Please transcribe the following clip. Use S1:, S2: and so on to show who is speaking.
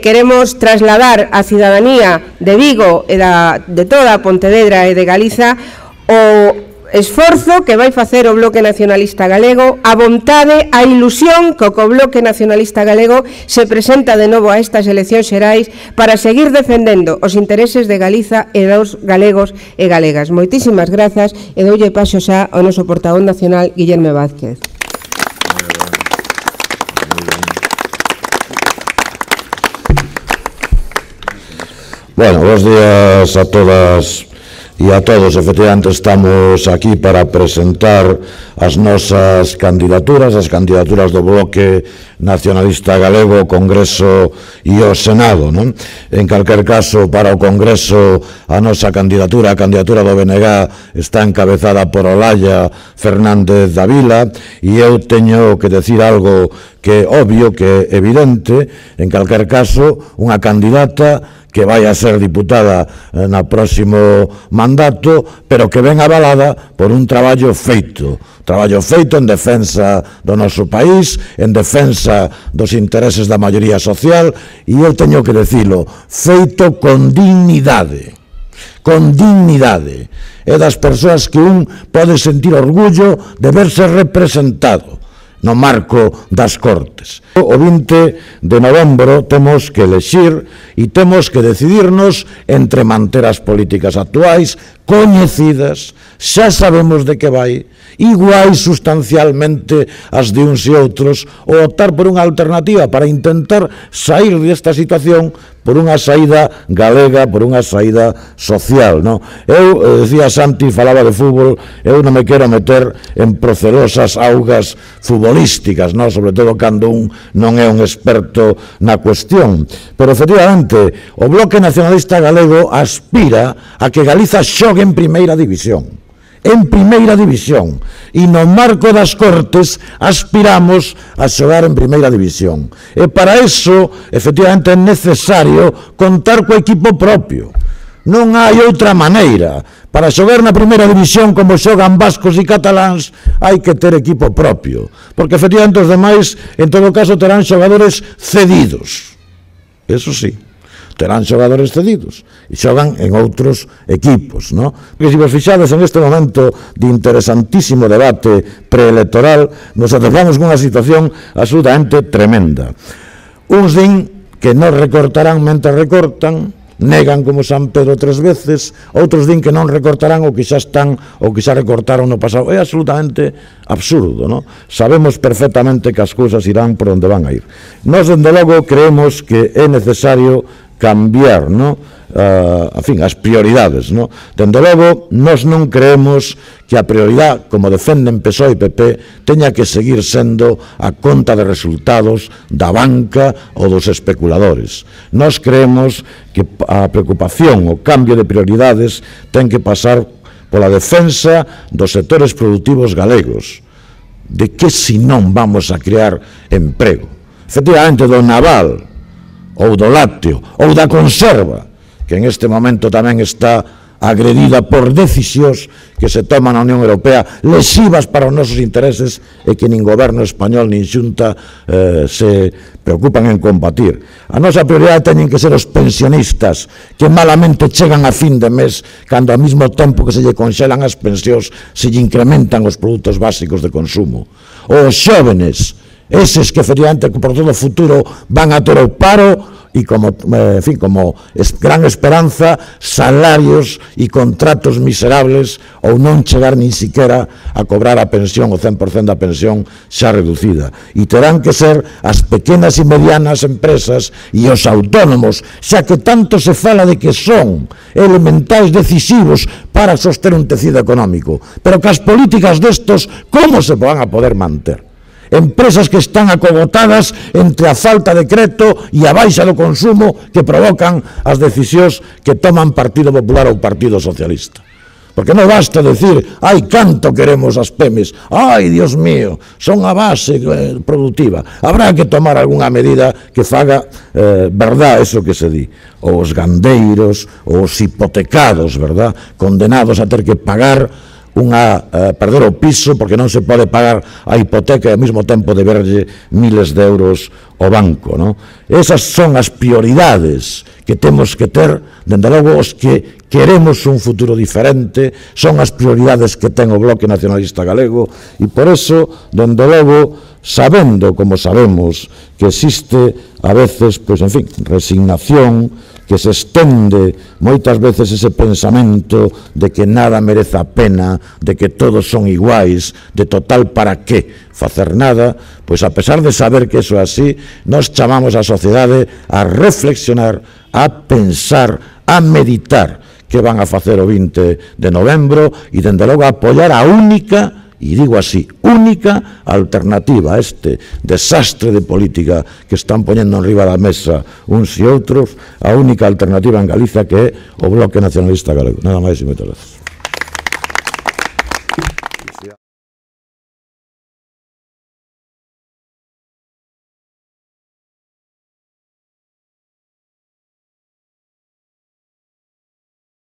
S1: Queremos trasladar á cidadanía de Vigo e de toda a Pontevedra e de Galiza o esforzo que vai facer o Bloque Nacionalista Galego, a vontade, a ilusión que o Bloque Nacionalista Galego se presenta de novo a estas eleccións xerais para seguir defendendo os intereses de Galiza e dos galegos e galegas. Moitísimas grazas e doulle paso xa ao noso portavoz nacional, Guillermo Vázquez.
S2: Bueno, buenos días a todas e a todos. Efectivamente, estamos aquí para presentar as nosas candidaturas, as candidaturas do Bloque Nacionalista Galego, o Congreso e o Senado, non? En calquer caso, para o Congreso, a nosa candidatura, a candidatura do BNG, está encabezada por Olalla Fernández Davila, e eu teño que decir algo que é obvio, que é evidente. En calquer caso, unha candidata que vai a ser diputada no próximo mandato, pero que ven avalada por un traballo feito en defensa do noso país, en defensa dos intereses da maioría social, e eu teño que decilo, feito con dignidade. É das persoas que un pode sentir orgullo de verse representado no marco das Cortes. O 20 de novembro temos que elexir e temos que decidirnos entre manter as políticas actuais, coñecidas, xa sabemos de que vai, iguais sustancialmente as de uns e outros, ou optar por unha alternativa para intentar sair desta situación por unha saída galega, por unha saída social, non? Eu, decía Santi, falaba de fútbol, eu non me quero meter en procelosas augas futbolísticas, non? Sobre todo cando un non é un experto na cuestión. Pero, efectivamente, o Bloque Nacionalista Galego aspira a que Galiza xogue en primeira división. E no marco das Cortes aspiramos a xogar en primeira división, e para iso efectivamente é necesario contar co equipo propio. Non hai outra maneira. Para xogar na primeira división como xogan vascos e cataláns hai que ter equipo propio, porque efectivamente os demais en todo caso terán xogadores cedidos, eso sí, terán xogadores cedidos e xogan en outros equipos, non? Porque se vos fixades en este momento de interesantísimo debate preelectoral, nos atopamos con unha situación absolutamente tremenda. Uns din que non recortarán mentre recortan, negan como San Pedro 3 veces, outros din que non recortarán o que xa están ou que xa recortaron no pasado. É absolutamente absurdo, non? Sabemos perfectamente que as cousas irán por onde van a ir. Nós, dende logo, creemos que é necesario cambiar, non? As prioridades, non? Dende logo, nós non creemos que a prioridade, como defenden PSOE e PP, teña que seguir sendo a conta de resultados da banca ou dos especuladores. Nós creemos que a preocupación, o cambio de prioridades, ten que pasar pola defensa dos sectores productivos galegos. De que se non vamos a crear emprego? Efectivamente, do naval, ou do lácteo, ou da conserva, que en este momento tamén está agredida por decisións que se toman na Unión Europea lesivas para os nosos intereses e que nin goberno español nin xunta se preocupan en combatir. A nosa prioridade teñen que ser os pensionistas que malamente chegan a fin de mes cando ao mesmo tempo que se lle conxelan as pensións se lle incrementan os produtos básicos de consumo. Os xóvenes, eses que efectivamente por todo o futuro van a ter o paro e como gran esperanza salarios e contratos miserables ou non chegar nin siquiera a cobrar a pensión, o 100% da pensión xa reducida. E terán que ser as pequenas e medianas empresas e os autónomos, xa que tanto se fala de que son elementais decisivos para soster un tecido económico, pero que as políticas destos como se van a poder manter? Empresas que están acogotadas entre a falta de crédito e a baixa do consumo que provocan as decisións que toman Partido Popular ou Partido Socialista. Porque non basta decir, ai, canto queremos as PEMES, ai, Dios mío, son a base productiva. Habrá que tomar algunha medida que faga verdad eso que se di. Os gandeiros, os hipotecados, verdad, condenados a ter que pagar perder o piso porque non se pode pagar a hipoteca e ao mesmo tempo deberlle miles de euros o banco, non? Esas son as prioridades que temos que ter, dende logo, os que queremos un futuro diferente, son as prioridades que ten o Bloque Nacionalista Galego, e por eso, dende logo, sabendo, como sabemos, que existe a veces, pois, en fin, resignación, que se estende moitas veces ese pensamento de que nada merece a pena, de que todos son iguais, de total para qué facer nada, pois a pesar de saber que iso é así, nós chamamos a sociedade a reflexionar, a pensar, a meditar que van a facer o 20 de novembro e, dende logo, a apoiar a única, e digo así, única alternativa a este desastre de política que están poñendo enriba da mesa uns e outros, a única alternativa en Galicia, que é o Bloque Nacionalista Galego. Nada máis e moitas gracias.